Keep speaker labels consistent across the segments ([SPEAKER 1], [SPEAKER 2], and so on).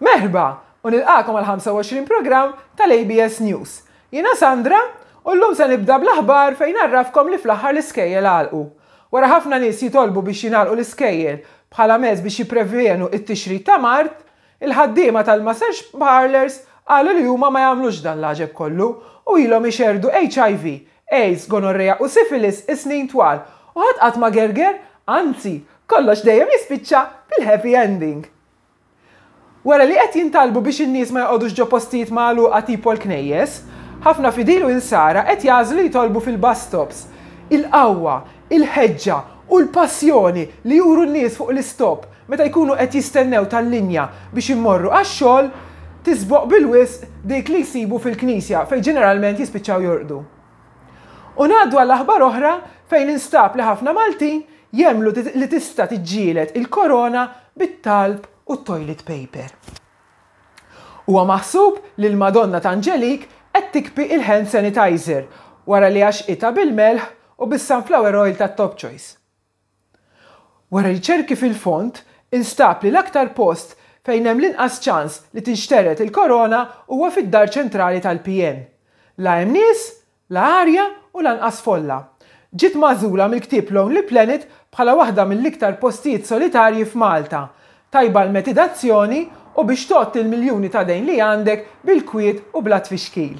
[SPEAKER 1] Merħba u nilqagħkom għall-25 programm tal-ABS News. Jiena Sandra u llum se nibda bl-aħbar fejn ngħarrafkom li fl-aħħar l-iskejjel għalqu. Wara ħafna nies jitolbu biex jingħalqu l-iskejjel bħala mezz biex jipprevjenu t-tixrid ta' mard, il-ħaddiema tal-massage parlours qalu li huma ma jagħmlux dan l-għaġeb kollu u ilhom ixerrdu HIV, AIDS, gonorrea u syphilis is-snin twal u ħadd qatt ma gerger, anzi, kollox dejjem jispiċċa bil-happy ending. Wara li qed jintalbu biex in-nies ma joqogħdux ġo postijiet magħluqa tipo l-knejjes, ħafna fidil u insara qed jagħżlu jitolbu fil-bus stops. Il-qawwa, il-ħeġġa u l-passjoni li juru n-nies fuq l-istop meta jkunu qed jistennew tal-linja biex immorru għax-xogħol tisboq bil-wisq dik li jsibu fil-knisja fejn ġeneralment jispiċċaw jorqdu. U ngħaddu għal aħbar oħra fejn instab li ħafna Maltin jemmlu li tista' tiġġieled il-korona bit-talb u t-toilet paper. Huwa maħsub li l-Madonna ta' Angelique qed tikpi il-hand sanitizer wara li għaxqitha bil-melħ u bis-sunflower oil tat-Top Choice. Wara riċerki fil-fond, instab li l-aktar post fejn hemm l-inqas ċans li tinxtered il-korona huwa fid-Dar Ċentrali tal-PN. La hemm nies, la arja u lanqas folla. Ġiet magħżula mill-ktieb Lonely Planet bħala waħda mill-iktar postijiet solitarji f'Malta. Tajba għall-metidazzjoni u biex tgħodd il-miljuni ta' dejn li għandek bil-kwiet u bla tfixkil.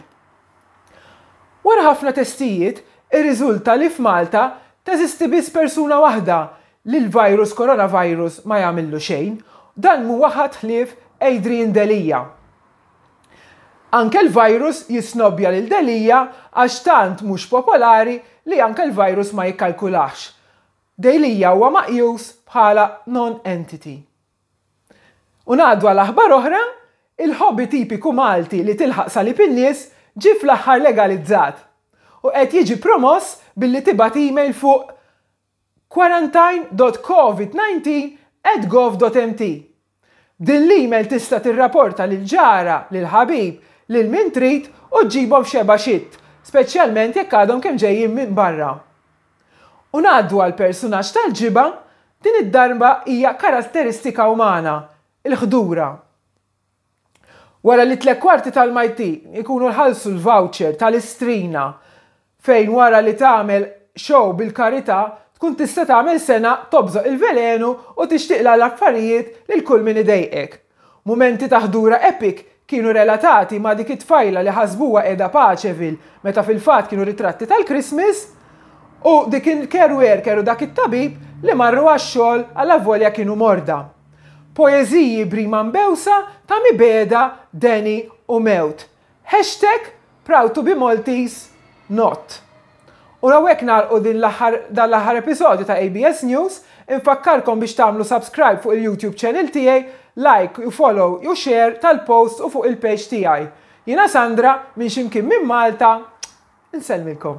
[SPEAKER 1] Wara ħafna testijiet, irriżulta li f'Malta teżisti biss persuna waħda li l-virus coronavirus ma jagħmillu xejn, dan m'huwa ħadd ħlief Adrian Delia. Anke l-virus jisnobbja lil Delia għax tant mhux popolari li anke l-virus ma jikkalkulahx. Delia huwa maqjus bħala non-entity. U ngħaddu għal aħbar oħra, il-hobby tipiku Malti li tilħaq salib in-nies ġie fl-aħħar legalizzat u qed jiġi promoss billi tibgħat email fuq quarantine dot covid 19 at gov dot mt. B'din l-email tista' tirraporta lil ġara, lil ħabib, lil min trid u ġġibhom f'xebgħa xitt, speċjalment jekk għadhom kemm ġejjin minn barra. U ngħaddu għall-persunaġġ tal-ġibgħa, din id-darba hija karatteristika umana, il-ħdura. Wara li tlett kwarti tal-Maltin ikunu ħallsu l-voucher tal-Istrina fejn wara li tagħmel show bil-karità tkun tista' tagħmel sena tobżoq il-velenu u tixtieqlha l-affarijiet lil kull min idejqek. Mumenti ta' ħdura epic kienu relatati ma' dik it-tfajla li ħasbuha qiegħda Paceville meta fil-fatt kienu ritratti tal-Christmas u dik il-care worker u dak it-tabib li marru għax-xogħol allavolja kienu morda. Poeżiji b'rima mbewsa ta' mibegħda, deni u mewt. Hashtag Proud to be Maltese not. U hawnhekk nagħlqu din l-aħħar dan l-aħħar episodju ta' ABS News. Infakkarkom biex tagħmlu subscribe fuq il-YouTube channel tiegħi, like u follow u share tal-post u fuq il-page tiegħi. Jiena Sandra minn x'imkien minn Malta, insellmilkom.